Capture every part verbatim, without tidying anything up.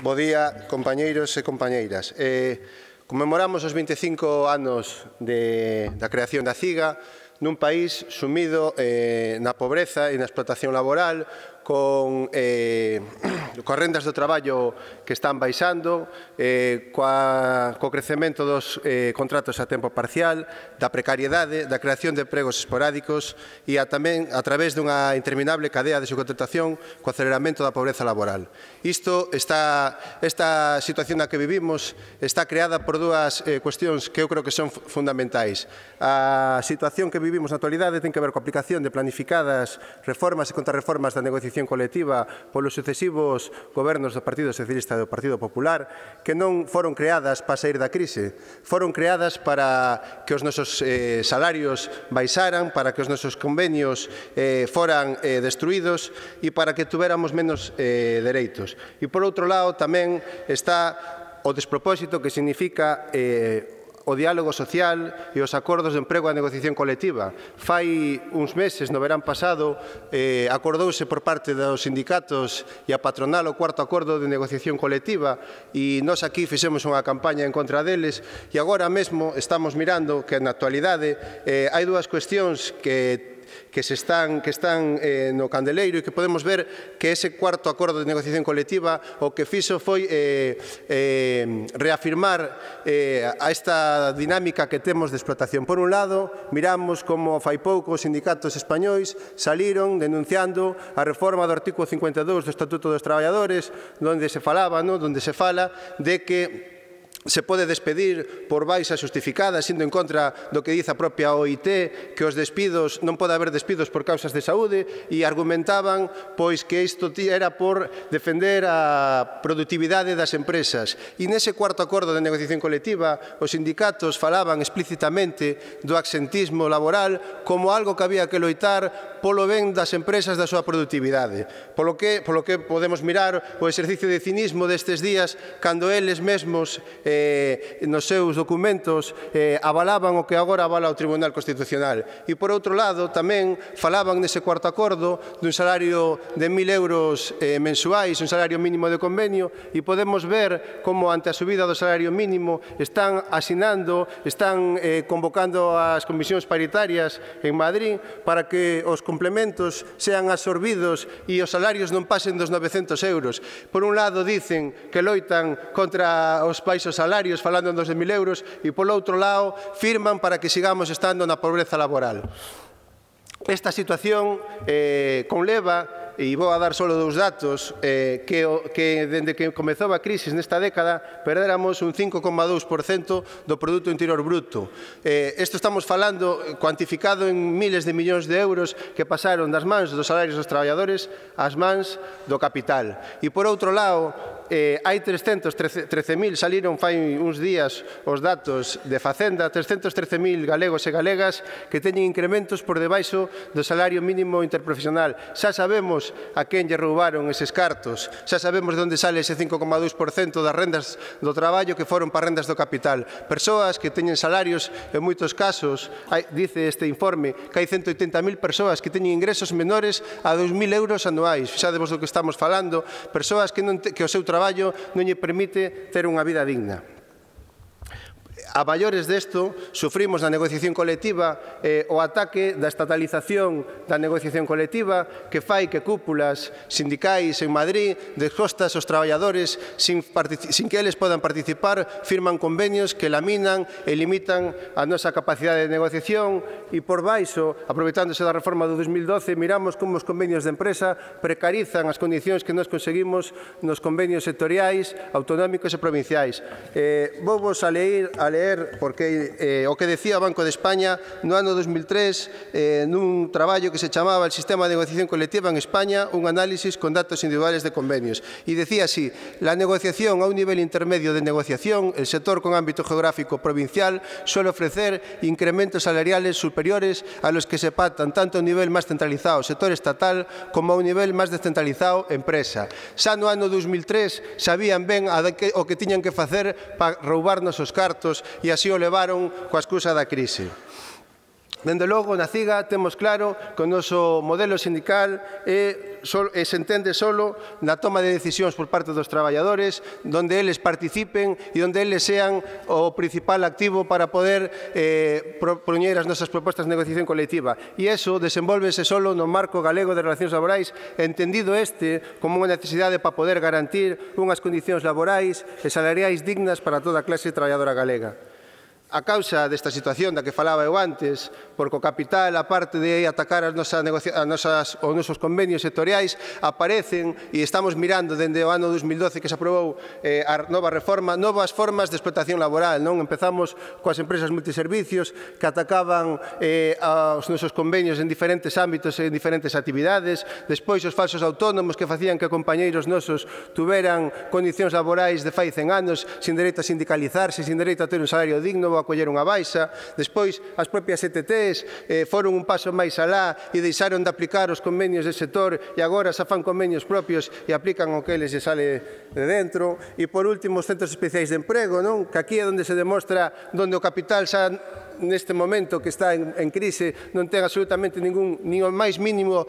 Bo día, compañeiros e compañeiras. Eh, conmemoramos os vinte e cinco anos de, da creación da CIGA nun país sumido eh, na pobreza e na explotación laboral, con, eh, coas rendas do traballo que están baixando, eh, coa, co crecemento dos eh, contratos a tempo parcial, da precariedade, da creación de empregos esporádicos e a, tamén a través dunha interminable cadea de subcontratación co aceleramento da pobreza laboral. Isto está, esta situación na que vivimos está creada por dúas eh, cuestións que eu creo que son fundamentais. A situación que vivimos na actualidade ten que ver coa aplicación de planificadas reformas e contrarreformas da negociación colectiva polos sucesivos gobernos do Partido Socialista e do Partido Popular, que non foron creadas para sair da crise, foron creadas para que os nosos eh, salarios baixaran, para que os nosos convenios eh, foran eh, destruídos e para que tuéramos menos eh, dereitos. E por outro lado tamén está o despropósito que significa eh, o diálogo social e os acordos de emprego e a negociación colectiva. Fai uns meses, no verán pasado, eh, acordouse por parte dos sindicatos e a patronal o cuarto acordo de negociación colectiva e nós aquí fixemos unha campaña en contra deles e agora mesmo estamos mirando que na actualidade eh, hai dúas cuestións que que se están, que están eh, no candeleiro e que podemos ver que ese cuarto acordo de negociación colectiva o que fixo foi eh, eh, reafirmar eh, a esta dinámica que temos de explotación. Por un lado, miramos como fai pouco os sindicatos españois saliron denunciando a reforma do artículo cincuenta e dous do Estatuto dos Traballadores, onde se falaba, no? onde se fala de que se pode despedir por baixa justificada, sendo en contra do que dice a propia O I T, que os despidos non pode haber despidos por causas de saúde, e argumentaban pois que isto era por defender a productividade das empresas. E nese cuarto acordo de negociación colectiva, os sindicatos falaban explícitamente do absentismo laboral como algo que había que loitar polo ben das empresas da súa productividade. Polo que, polo que podemos mirar o exercicio de cinismo destes días, cando eles mesmos Eh, nos seus documentos eh, avalaban o que agora avala o Tribunal Constitucional. E, por outro lado, tamén falaban nese cuarto acordo dun salario de mil euros eh, mensuais, un salario mínimo de convenio, e podemos ver como ante a subida do salario mínimo están asinando, están eh, convocando as comisións paritarias en Madrid para que os complementos sean absorbidos e os salarios non pasen dos novecentos euros. Por un lado, dicen que loitan contra os baixos salarios, falando en doce mil euros, e polo outro lado firman para que sigamos estando na pobreza laboral. Esta situación eh, conleva, e vou a dar só dous datos, eh, que, que dende que comezou a crise nesta década perdéramos un cinco coma dous por cento do Produto Interior Bruto. Eh, isto estamos falando cuantificado en miles de millóns de euros que pasaron das mans dos salarios dos traballadores ás mans do capital. E por outro lado, Eh, hai trescentos trece mil, saliron fai uns días os datos de Facenda, trescentos trece mil galegos e galegas que teñen incrementos por debaixo do salario mínimo interprofesional. Xa sabemos a quen lle roubaron eses cartos, xa sabemos de onde sale ese cinco coma dous por cento das rendas do traballo que foron para rendas do capital. Persoas que teñen salarios, en moitos casos, hai, dice este informe, que hai ciento oitenta mil persoas que teñen ingresos menores a dous mil euros anuais. Fixadevos do que estamos falando, persoas que, non te, que o seu traballo traballo non lle permite ter unha vida digna. A maiores desto, sufrimos na negociación colectiva eh, o ataque da estatalización da negociación colectiva que fai que cúpulas sindicais en Madrid descostas aos traballadores sin, sin que eles podan participar, firman convenios que laminan e limitan a nosa capacidade de negociación e por baixo, aproveitándose da reforma do dos mil doce, miramos como os convenios de empresa precarizan as condicións que nos conseguimos nos convenios sectoriais, autonómicos e provinciais. Eh, vou vos a leer a leer porque eh, o que decía o Banco de España no ano dos mil tres eh, nun traballo que se chamaba el Sistema de Negociación Colectiva en España, un análisis con datos individuales de convenios, e decía así: la negociación a un nivel intermedio de negociación, el sector con ámbito geográfico provincial suele ofrecer incrementos salariales superiores a los que se pactan tanto a un nivel máis centralizado, sector estatal, como a un nivel máis descentralizado, empresa. Xa no ano dos mil tres sabían ben o que tiñan que facer para roubarnos os cartos e así o levaron coa excusa da crise. Dende logo, na CIGA temos claro que o noso modelo sindical é, sol, é, se entende solo na toma de decisións por parte dos traballadores, donde eles participen e donde eles sean o principal activo para poder eh, propoñer as nosas propostas de negociación colectiva. E iso desenvolvese solo no marco galego de relacións laborais, entendido este como unha necesidade para poder garantir unhas condicións laborais e salariais dignas para toda a clase traballadora galega. A causa desta situación da que falaba eu antes, porque o capital, a parte de atacar as nosas, as nosas, os nosos convenios sectoriais, aparecen, e estamos mirando dende o ano dos mil doce que se aprobou eh, a nova reforma, novas formas de explotación laboral. Non empezamos coas empresas multiservicios que atacaban eh, aos nosos convenios en diferentes ámbitos e en diferentes actividades, despois os falsos autónomos que facían que compañeiros nosos tuveran condicións laborais de fai cen anos, sin dereito a sindicalizarse, sin dereito a ter un salario digno, a coller unha baixa. Despois, as propias E T Ts eh, foron un paso máis alá e deixaron de aplicar os convenios de sector e agora xa fan convenios propios e aplican o que eles lle sale de dentro. E, por último, os centros especiais de emprego, non? Que aquí é onde se demostra onde o capital xa neste momento que está en, en crise non ten absolutamente ningún, nin o máis mínimo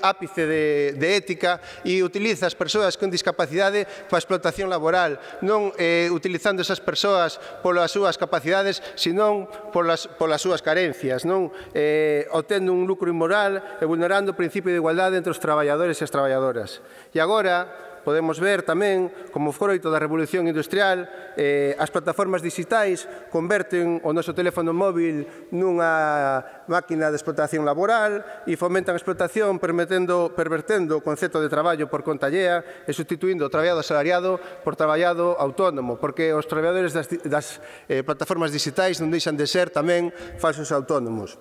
ápice de, de ética e utiliza as persoas con discapacidade para a explotación laboral, non eh, utilizando esas persoas polas súas capacidades, senón polas, polas súas carencias, non eh, obtendo un lucro inmoral e vulnerando o principio de igualdade entre os traballadores e as traballadoras. E agora podemos ver tamén como froito da revolución industrial eh, as plataformas digitais converten o noso teléfono móvil nunha máquina de explotación laboral e fomentan a explotación permitendo, pervertendo o concepto de traballo por conta allea e sustituindo o traballado asalariado por traballado autónomo, porque os traballadores das, das eh, plataformas digitais non deixan de ser tamén falsos autónomos.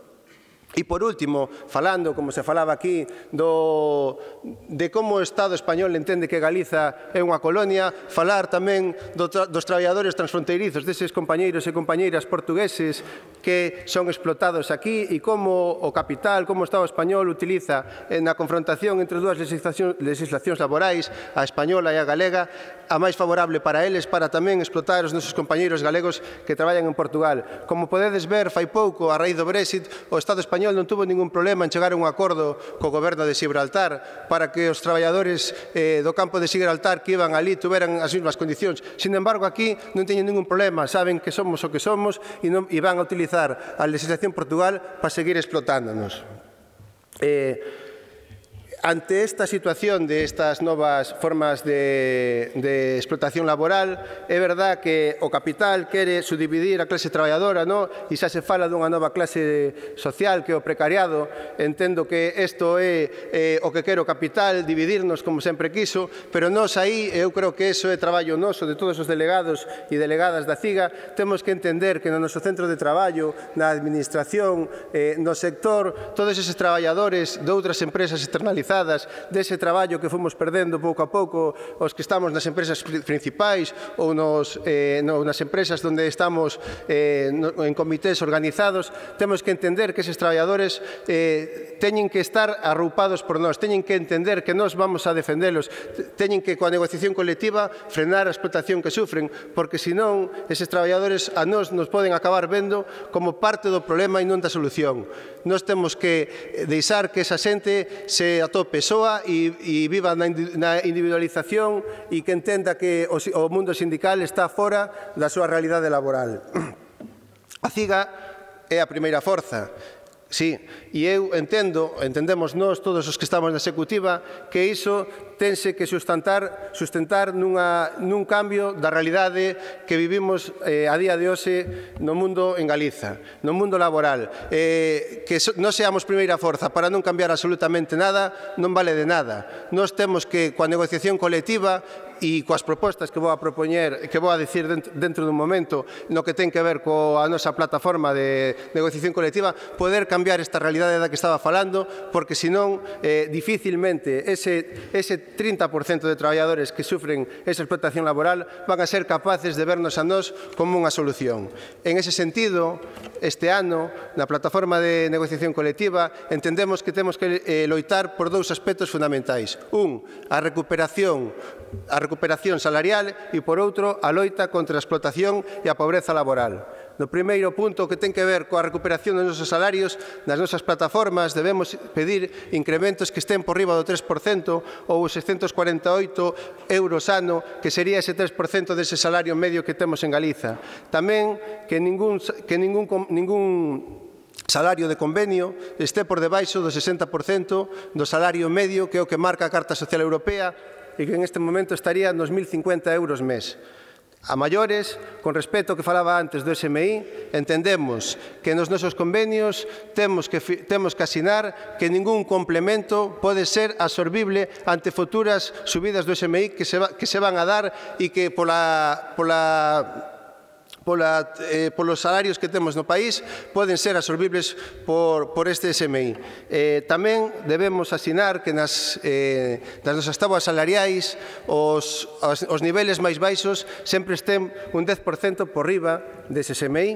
E, por último, falando, como se falaba aquí, do, de como o Estado español entende que Galiza é unha colonia, falar tamén do tra, dos traballadores transfronteirizos, deses compañeiros e compañeiras portugueses que son explotados aquí e como o capital, como o Estado español utiliza na confrontación entre dúas legislacións, legislacións laborais, a española e a galega, a máis favorable para eles para tamén explotar os nosos compañeiros galegos que traballan en Portugal. Como podedes ver, fai pouco, a raíz do Brexit, o Estado español non tuvo ningún problema en chegar a un acordo co goberno de Gibraltar para que os traballadores eh, do campo de Gibraltar que iban ali tuveran as mesmas condicións. Sin embargo, aquí non teñen ningún problema, saben que somos o que somos e, non, e van a utilizar a legislación Portugal para seguir explotándonos. Eh, Ante esta situación de estas novas formas de, de explotación laboral, é verdad que o capital quere subdividir a clase traballadora, no? E xa se fala dunha nova clase social que é o precariado. Entendo que isto é eh, o que quere o capital, dividirnos como sempre quiso, pero nós aí, eu creo que iso é traballo noso de todos os delegados e delegadas da CIGA, temos que entender que no noso centro de traballo, na administración, eh, no sector, todos eses traballadores de outras empresas externalizadas dese traballo que fomos perdendo pouco a pouco os que estamos nas empresas principais ou nos, eh, no, nas empresas onde estamos eh, no, en comités organizados, temos que entender que eses traballadores eh, teñen que estar arroupados por nós, teñen que entender que nós vamos a defendelos, teñen que coa negociación colectiva frenar a explotación que sufren, porque senón eses traballadores a nós nos poden acabar vendo como parte do problema e non da solución. Nós temos que deixar que esa xente se atope soa e, e viva na individualización e que entenda que o, o mundo sindical está fora da súa realidade laboral. A CIGA é a primeira forza. Sí, e eu entendo, entendemos nós, todos os que estamos na executiva, que iso tense que sustentar, sustentar nunha, nun cambio da realidade que vivimos eh, a día de hoxe no mundo en Galiza, no mundo laboral. Eh, que so, non seamos primeira forza para non cambiar absolutamente nada, non vale de nada. Nós temos que, coa negociación colectiva, e coas propostas que vou a propoñer, que vou a dicir dentro dun momento no que ten que ver coa nosa plataforma de negociación colectiva, poder cambiar esta realidade da que estaba falando, porque senón eh, dificilmente ese, ese trinta por cento de traballadores que sufren esa explotación laboral van a ser capaces de vernos a nós como unha solución. En ese sentido, este ano, na plataforma de negociación colectiva, entendemos que temos que eh, loitar por dous aspectos fundamentais. Un, a recuperación a recuperación salarial e, por outro, a loita contra a explotación e a pobreza laboral. No primeiro punto, que ten que ver coa recuperación dos nosos salarios, nas nosas plataformas debemos pedir incrementos que estén por riba do tres por cento ou os seiscentos cuarenta e oito euros ano, que sería ese tres por cento dese salario medio que temos en Galiza. Tamén que ningún, que ningún, ningún salario de convenio este por debaixo do sesenta por cento do salario medio, que é o que marca a Carta Social Europea, e que en este momento estaría nos mil cincuenta euros mes. A maiores, con respecto ao que falaba antes do S M I, entendemos que nos nosos convenios temos que, temos que asinar que ningún complemento pode ser absorbible ante futuras subidas do S M I que se, va, que se van a dar e que pola, pola Pola, eh, polos salarios que temos no país poden ser absorbibles por, por este S M I. Eh, tamén debemos asinar que nas, eh, nas nosas tabuas salariais os, os, os niveles máis baixos sempre estén un dez por cento por riba dese S M I,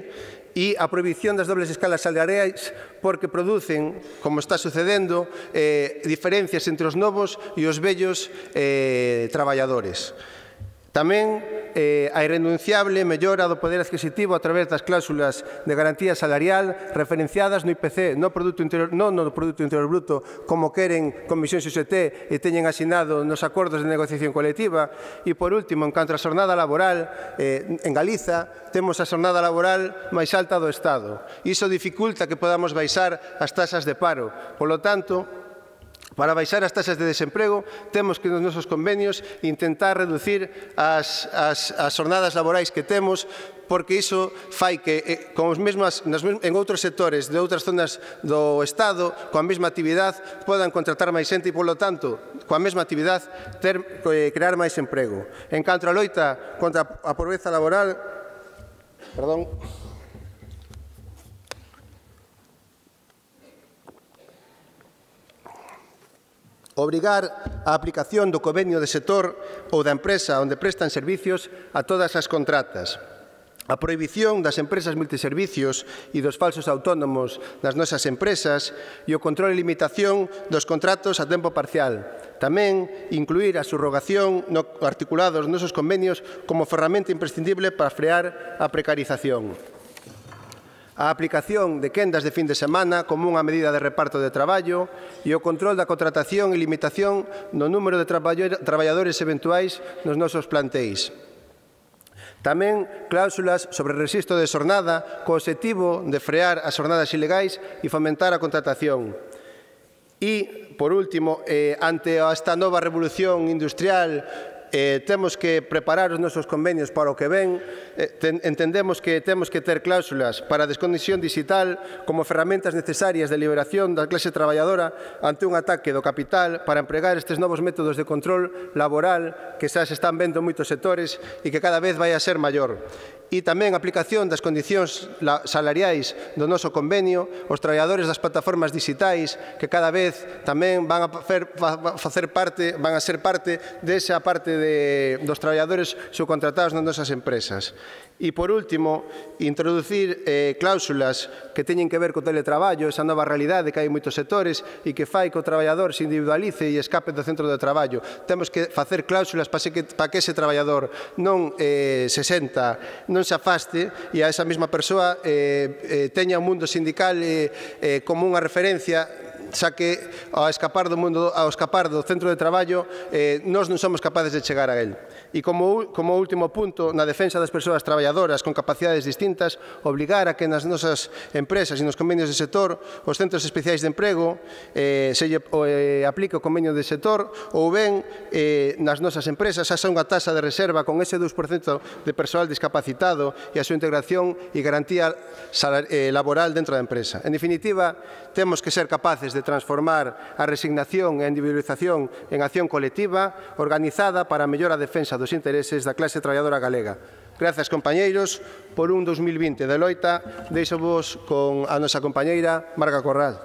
e a prohibición das dobles escalas salariais porque producen, como está sucedendo, eh, diferencias entre os novos e os vellos eh, traballadores. Tamén eh, a irrenunciable mellora do poder adquisitivo a través das cláusulas de garantía salarial referenciadas no I P C, no, produto interior, non no Produto Interior Bruto, como queren Comisión X T e teñen asinado nos acordos de negociación colectiva. E, por último, en canto a xornada laboral, eh, en Galiza temos a xornada laboral máis alta do Estado. Iso dificulta que podamos baixar as tasas de paro. Polo tanto, para baixar as tasas de desemprego, temos que nos nosos convenios intentar reducir as, as, as jornadas laborais que temos, porque iso fai que eh, con os mesmas, nas, en outros sectores de outras zonas do Estado, coa mesma actividade, podan contratar máis xente e, polo tanto, coa mesma actividade, ter, eh, crear máis emprego. En canto a loita contra a pobreza laboral, perdón, obrigar a aplicación do convenio de sector ou da empresa onde prestan servicios a todas as contratas. A prohibición das empresas multiservicios e dos falsos autónomos das nosas empresas e o control e limitación dos contratos a tempo parcial. Tamén incluir a subrogación no articulado dos nosos convenios como ferramenta imprescindible para frear a precarización. A aplicación de quendas de fin de semana como unha medida de reparto de traballo e o control da contratación e limitación no número de traballadores eventuais nos nosos plantéis. Tamén cláusulas sobre rexistro de xornada co obxectivo de frear as xornadas ilegais e fomentar a contratación. E, por último, eh, ante esta nova revolución industrial, Eh, temos que preparar os nosos convenios para o que ven. Eh, ten, entendemos que temos que ter cláusulas para a desconexión digital como ferramentas necesarias de liberación da clase traballadora ante un ataque do capital, para empregar estes novos métodos de control laboral que xa se están vendo en moitos sectores e que cada vez vai a ser maior. E tamén a aplicación das condicións salariais do noso convenio, os traballadores das plataformas digitais que cada vez tamén van a facer, facer parte, van a ser parte desa parte de, dos traballadores subcontratados nas nosas empresas. E, por último, introducir eh, cláusulas que teñen que ver co teletraballo, esa nova realidade que hai en moitos sectores e que fai que o traballador se individualice e escape do centro de traballo. Temos que facer cláusulas para que, para que ese traballador non eh, se senta, non se afaste e a esa mesma persoa eh, eh, teña o mundo sindical eh, eh, como unha referencia, xa que ao escapar do mundo, ao escapar do centro de traballo, eh, nós non somos capaces de chegar a él. E como, como último punto, na defensa das persoas traballadoras con capacidades distintas, obligar a que nas nosas empresas e nos convenios de sector os centros especiais de emprego eh, se lle, eh, aplique o convenio de sector, ou ben eh, nas nosas empresas xa unha tasa de reserva con ese dous por cento de persoal discapacitado e a súa integración e garantía eh, laboral dentro da empresa. En definitiva, temos que ser capaces de transformar a resignación e a individualización en acción colectiva organizada para a mellor a defensa dos intereses da clase traballadora galega. Grazas, compañeiros, por un dos mil vinte de loita. Deixo vos con a nosa compañeira Marga Corral.